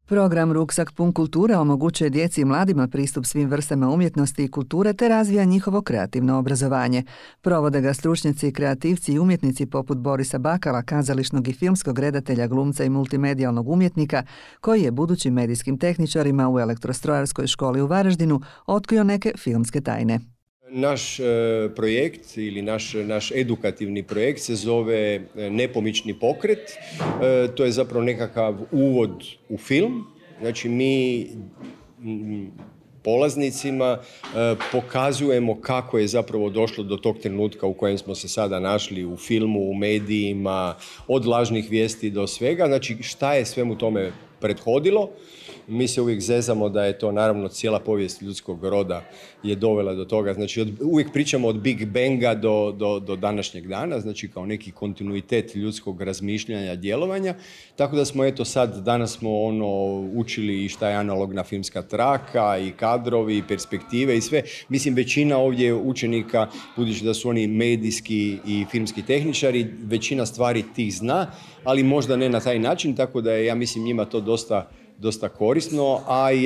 Program Ruksak pun kulture omogućuje djeci i mladima pristup svim vrstama umjetnosti i kulture te razvija njihovo kreativno obrazovanje. Provode ga stručnjaci, kreativci i umjetnici poput Borisa Bakala, kazališnog i filmskog redatelja, glumca i multimedijalnog umjetnika, koji je budućim medijskim tehničarima u Elektrostrojarskoj školi u Varaždinu otkrio neke filmske tajne. Naš projekt ili naš edukativni projekt se zove Nepomični pokret. To je zapravo nekakav uvod u film. Znači mi polaznicima pokazujemo kako je zapravo došlo do tog trenutka u kojem smo se sada našli u filmu, u medijima, od lažnih vijesti do svega. Znači šta je svemu tome prethodilo. Mi se uvijek zezamo da je to naravno cijela povijest ljudskog roda je dovela do toga. Znači uvijek pričamo od Big Banga do današnjeg dana, znači kao neki kontinuitet ljudskog razmišljanja, djelovanja. Tako da smo danas smo učili i šta je analogna filmska traka i kadrovi i perspektive i sve. Mislim većina ovdje učenika, budući da su oni medijski i filmski tehničari, većina stvari tih zna, ali možda ne na taj način, tako da je, ja mislim, njima to dosta korisno, a i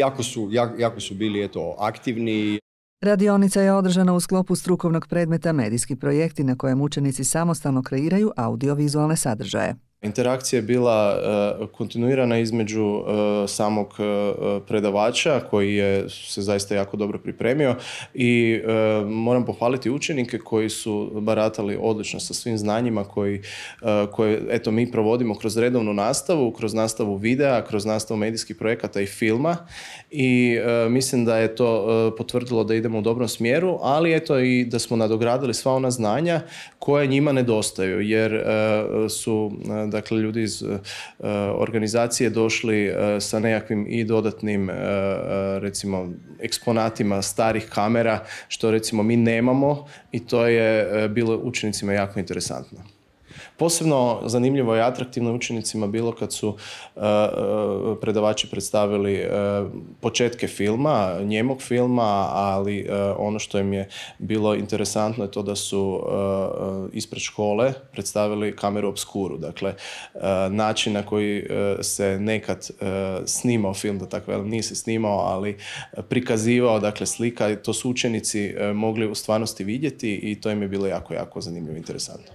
jako su bili aktivni. Radionica je održana u sklopu strukovnog predmeta Medijski projekti na kojem učenici samostalno kreiraju audiovizualne sadržaje. Interakcija je bila kontinuirana između samog predavača koji se zaista jako dobro pripremio i moram pohvaliti učenike koji su baratali odlično sa svim znanjima koje mi provodimo kroz redovnu nastavu, kroz nastavu videa, kroz nastavu medijskih projekata i filma i mislim da je to potvrdilo da idemo u dobrom smjeru, ali i da smo nadogradili sva ona znanja koje njima nedostaju jer su ljudi iz organizacije došli sa nekakvim i dodatnim recimo eksponatima starih kamera što recimo mi nemamo i to je bilo učenicima jako interesantno. Posebno zanimljivo i atraktivno učenicima bilo kad su predavači predstavili početke filma, njemog filma, ali ono što im je bilo interesantno je to da su ispred škole predstavili kameru obskuru. Dakle, način na koji se nekad snimao film, da tako velim, nije se snimao, ali prikazivao, dakle slika, to su učenici mogli u stvarnosti vidjeti i to im je bilo jako, jako zanimljivo i interesantno.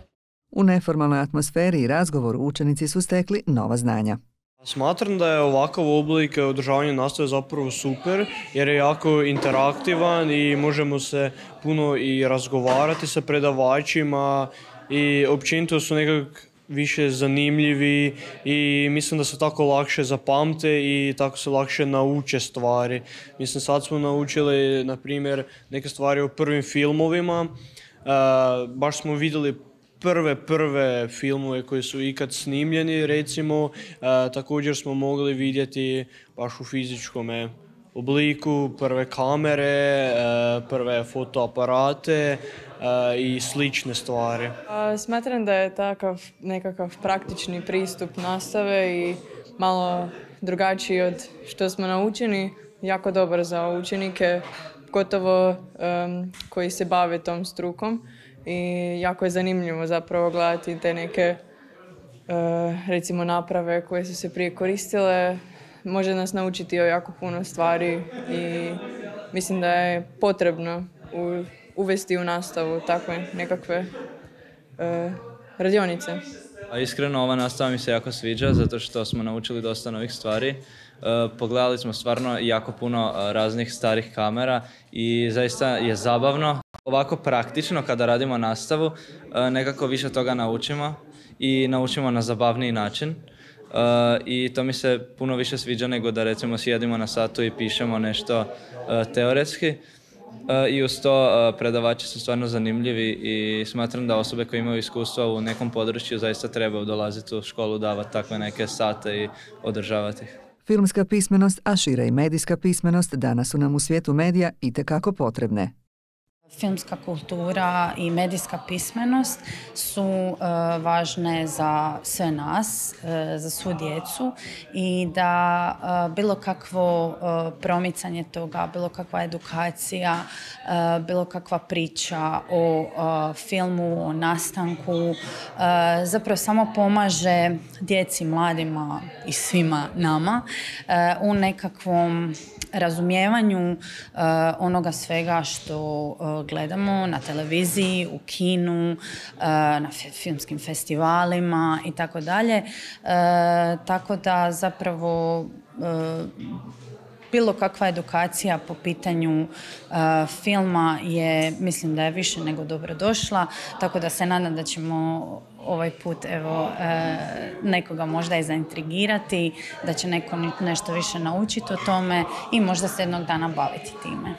U neformalnoj atmosferi i razgovoru učenici su stekli nova znanja. Smatram da je ovakav oblik održavanja nastave zapravo super jer je jako interaktivan i možemo se puno i razgovarati sa predavačima i općenito su nekako više zanimljivi i mislim da se tako lakše zapamte i tako se lakše nauče stvari. Mislim sad smo naučili na primjer neke stvari o prvim filmovima, baš smo vidjeli prve filmove koji su ikad snimljeni, recimo, također smo mogli vidjeti baš u fizičkom obliku prve kamere, prve fotoaparate i slične stvari. Smatram da je takav nekakav praktični pristup nastave i malo drugačiji od što smo naučeni, jako dobar za učenike, gotovo koji se bave tom strukom. I jako je zanimljivo zapravo gledati te neke recimo naprave koje su se prije koristile. Može nas naučiti o jako puno stvari i mislim da je potrebno uvesti u nastavu takve nekakve radionice. Iskreno ova nastava mi se jako sviđa zato što smo naučili dosta novih stvari. Pogledali smo stvarno jako puno raznih starih kamera i zaista je zabavno. Ovako praktično kada radimo nastavu nekako više toga naučimo i naučimo na zabavniji način i to mi se puno više sviđa nego da recimo sjedimo na satu i pišemo nešto teoretski i uz to predavači su stvarno zanimljivi i smatram da osobe koje imaju iskustva u nekom području zaista trebaju dolaziti u školu, davati takve neke sate i održavati ih. Filmska pismenost, a šire i medijska pismenost danas su nam u svijetu medija itekako potrebne. Filmska kultura i medijska pismenost su važne za sve nas, za svu djecu i da bilo kakvo promicanje toga, bilo kakva edukacija, bilo kakva priča o filmu, o nastanku, zapravo samo pomaže djeci, mladima i svima nama u nekakvom razumijevanju onoga svega što gledamo na televiziji, u kinu, na filmskim festivalima i tako dalje. Tako da zapravo bilo kakva edukacija po pitanju filma je, mislim da je više nego dobro došla, tako da se nadam da ćemo ovaj put nekoga možda i zaintrigirati, da će neko nešto više naučiti o tome i možda se jednog dana baviti time.